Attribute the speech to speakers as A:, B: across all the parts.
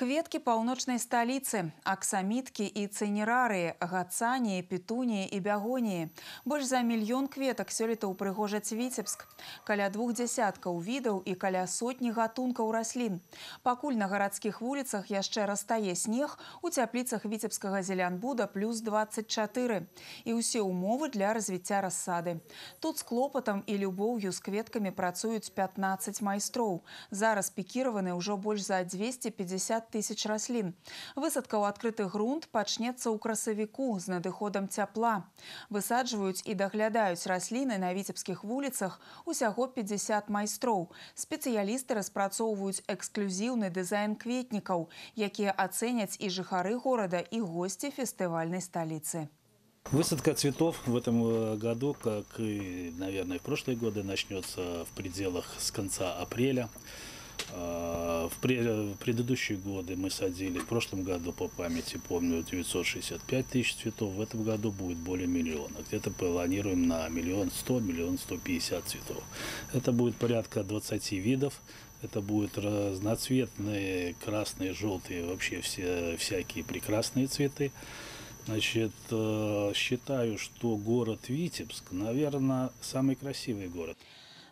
A: Кветкі паўночнай сталіцы, аксаміткі і цэнерарыі, гацаніі, петуніі і бягоніі. Больш за мільён кветак сёлета ўпрыгожаць Віцебск. Каля 2 дзясяткаў відаў і каля сотні гатункаў раслін. Пакуль на гарадскіх вуліцах яшчэ растае снег, у цяпліцах віцебскага зелянбуда плюс 24. І ўсе ўмовы для развіцця рассады. Тут з клопатам і любоўю з кветкамі працуюць 15 майстроў. Зараз пікіраваны ўжо больш за 250 тысяч раслін. Высадка ў адкрыты грунт пачнецца ў красавіку з надыходам цяпла. Высаджваюць і даглядаюць расліны на віцебскіх вуліцах усяго 50 майстроў. Спецыялісты распрацоўваюць эксклюзіўны дызайн кветнікаў, якія ацэняць і жыхары горада, і госці фестывальнай сталіцы.
B: Высадка цветов в этом году, как и, наверное, в прошлые годы, начнется в пределах с конца апреля. В предыдущие годы мы садили, в прошлом году, по памяти помню, 965 тысяч цветов, в этом году будет более миллиона. Где-то планируем на 1 100 000, 1 150 цветов. Это будет порядка 20 видов, это будут разноцветные, красные, желтые, вообще всякие прекрасные цветы. Значит, считаю, что город Витебск, наверное, самый красивый город.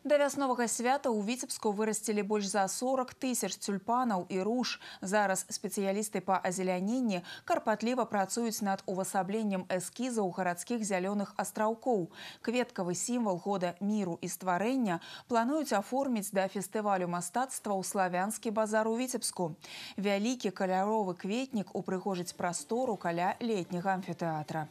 A: Да вясновага свята ў Віцебску вырасцілі больш за 40 тысяч тюльпанаў і руж. Зараз спецыялісты па азеляненні карпатліва працуюць над увасабленнем эскізаў гарадскіх зялёных астраўкоў. Кветкавы сімвал года міру і стварэння плануюць аформіць да фестывалю мастацтва ў славянскі базар у Віцебску. Вялікі каляровы кветнік упрыгожыць прастору каля летняга амфітэатра.